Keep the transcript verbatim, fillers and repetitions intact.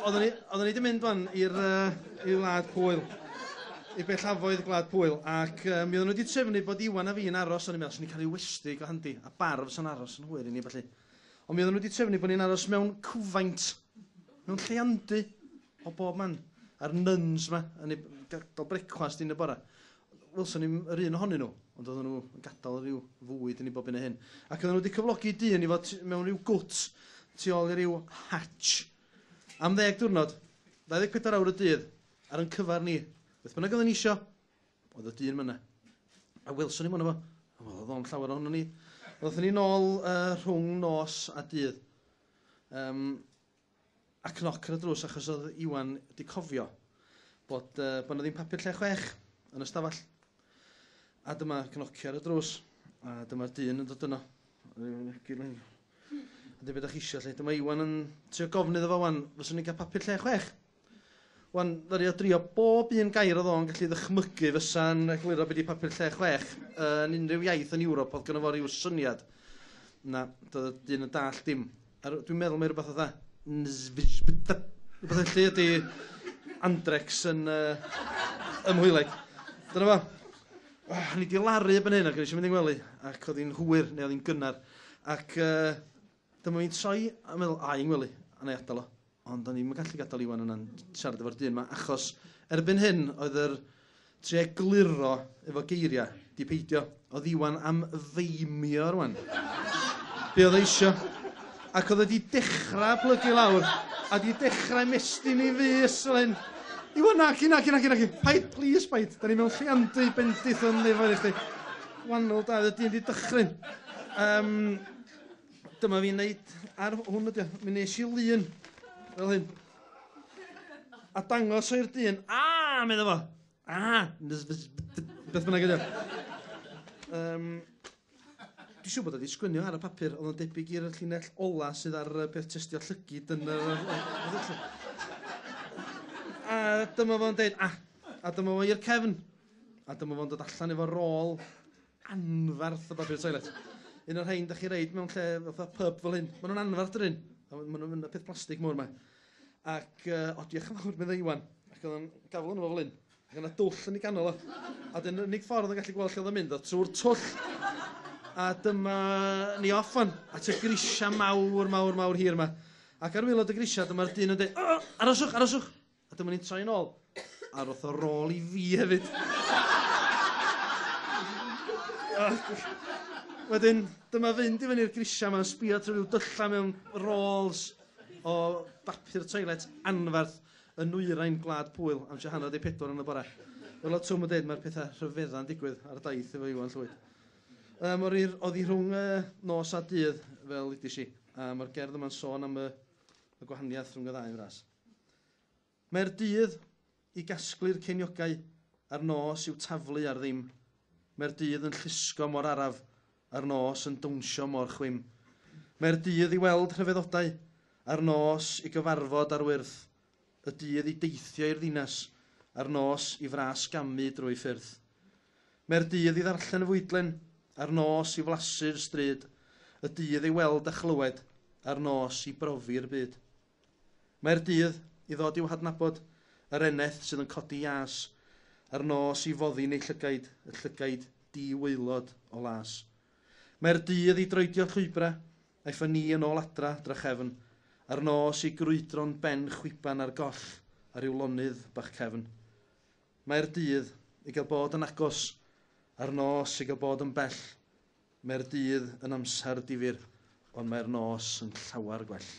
Oedden ni, oedden ni wedi mynd wan i'r uh, i wlad Pwyl, i bellafoedd Gwlad Pwyl, ac uh, mi oedden nhw wedi trefnu bod Iwan a fi'n aros, o'n i'n meddwl, swn i'n cael ei westy go handi, a bar fysa'n aros yn hwyr i ni, felly. Ond mi oedden nhw wedi trefnu bod ni'n aros mewn cwfaint, mewn lleiandy o bob man, a'r nuns ma, yn ei gadael brecwast yn y bora. Welson ni'm yr un ohonyn nhw, ond oedden nhw yn gadael rhyw fwyd i ni bob un o hyn. Ac oedden nhw wedi cyflogi dyn i fod mewn rhyw gwt tu ôl i ryw hatch. Am ddeg diwrnod, dau ddeg pedwar awr y dydd, ar yn cyfar ni. Beth bynnag oedden ni isio, oedd y dyn yna. A welson ni mono fo. A wel, oedd o'n llawer ohono ni. Oedden ni nôl uh, rhwng nos a dydd. Um, a cnoc ar y drws achos oedd Iwan wedi cofio bod, uh, bod 'na ddim papur lle chwech yn y stafell. A dyma cnocio ar y drws. A dyma'r dyn yn dod yno. A dweud, "Beth ydych chi eisiau, lle?" Dyma Iwan yn trio gofyn iddo fo wan, fyswn ni'n cael papur lle chwech. Wan, ddaru o drio bob un gair oedd o'n gallu ddychmygu fysa'n egluro beth di papur lle chwech yn unrhyw iaith yn Ewrop oedd gynno fo ryw syniad. Na, doedd y dyn yn dall dim. A dwi'n meddwl mai rhywbeth oedd rhywbeth felly ydy Andrex yn uh, ym Mhwyleg. Dyna fo. Oh, ni di laru erbyn hyn ac o'n i eisiau mynd i'n gwely ac oedd hi'n hwyr neu oedd hi'n gynnar. Ac uh, dyma fi'n troi a meddwl, a i'n gwely, a na i adael o. Ond o'n i'n gallu gadael Iwan yna'n siarad efo'r dyn yma, achos erbyn hyn oedd yr trio egluro efo geiriau di peidio. Oedd Iwan am feimio rwan. Be oedd e isio. Ac oedd wedi dechrau plygu lawr, a di dechrau mestyn i fys fel hyn. "Iwan, naci, naci, naci, naci. Paid, please, paid. Da ni mewn lleiandy bendith yn nefoedd i chdi." Wahanol da, oedd y dyn di dychryn. Um, dyma fi'n neud ar hwn ydi o. Mi nes i lun fel hyn. A dangos o'r dyn. "A, medda fo. A, beth bynnag ydi o." Um, Dwi'n siŵr bod o wedi sgwennu ar y papur, oedd o'n debyg i'r llinell ola sydd ar y peth testio llygid yn yr... A dyma fo'n deud, "A," a dyma fo i'r cefn. A dyma fo'n dod allan efo rôl anfarth o bapur toilet. Un o'r rhain da chi reid mewn lle fatha pub fel hyn. Maen nhw'n anfarth dydyn. Maen nhw'n mynd peth plastig mawr yma. Ac, uh, "O, diolch yn fawr," meddai Iwan. Ac oedd o'n gafel yno fo fel hyn. Ac yna dwll yn ei ganol o. A dyna'r unig ffordd o'n gallu gweld lle oedd o'n mynd, oedd trwy'r twll. A dyma ni off wan, at y grisia mawr, mawr, mawr hir yma. Ac ar waelod y grisia, dyma'r dyn yn dweud, "O, aroswch, aroswch." A dyma ni'n troi yn ôl. A roth o rôl i fi hefyd. Wedyn, dyma fynd i fyny'r grisia yma, sbio trwy ryw dylla mewn rolls o bapur toilet anfarth yn nwyrain Gwlad Pwyl am tua hanner 'di pedwar yn y bore. Fel oedd Twm yn dweud, mae'r pethau rhyfedda'n digwydd ar y daith efo Iwan Llwyd. Um, oedd hi rhwng uh, nos a dydd, fel ydys i, a mae'r gerdd yma'n sôn am y, y gwahaniaeth rhwng y ddau yn fras. Mae'r dydd i gasglu'r ceiniogau a'r nos i'w taflu ar ddim. Mae'r dydd yn llusgo mor araf a'r nos yn dawnsio mor chwim. Mae'r dydd i weld rhyfeddodau a'r nos i gyfarfod ar wyrth. Y dydd i deithio i'r ddinas a'r nos i fras gamu drwy ffyrdd. Mae'r dydd i ddarllen y fwydlen a'r nos i flasu'r stryd. Y dydd i weld a chlywed a'r nos i brofi'r byd. Mae'r dydd i ddod i'w hadnabod, yr eneth sydd yn codi ias, a'r nos i foddi neu llygaid, y llygaid di-waelod o las. Mae'r dydd i droedio llwybrau, aeth ni yn ôl adra drachefn, a'r nos i grwydro'n ben chwiban ar goll ar ryw lonydd bach cefn. Mae'r dydd i gael bod yn agos, a'r nos i gael bod yn bell. Mae'r dydd yn amser difyr, ond mae'r nos yn llawer gwell.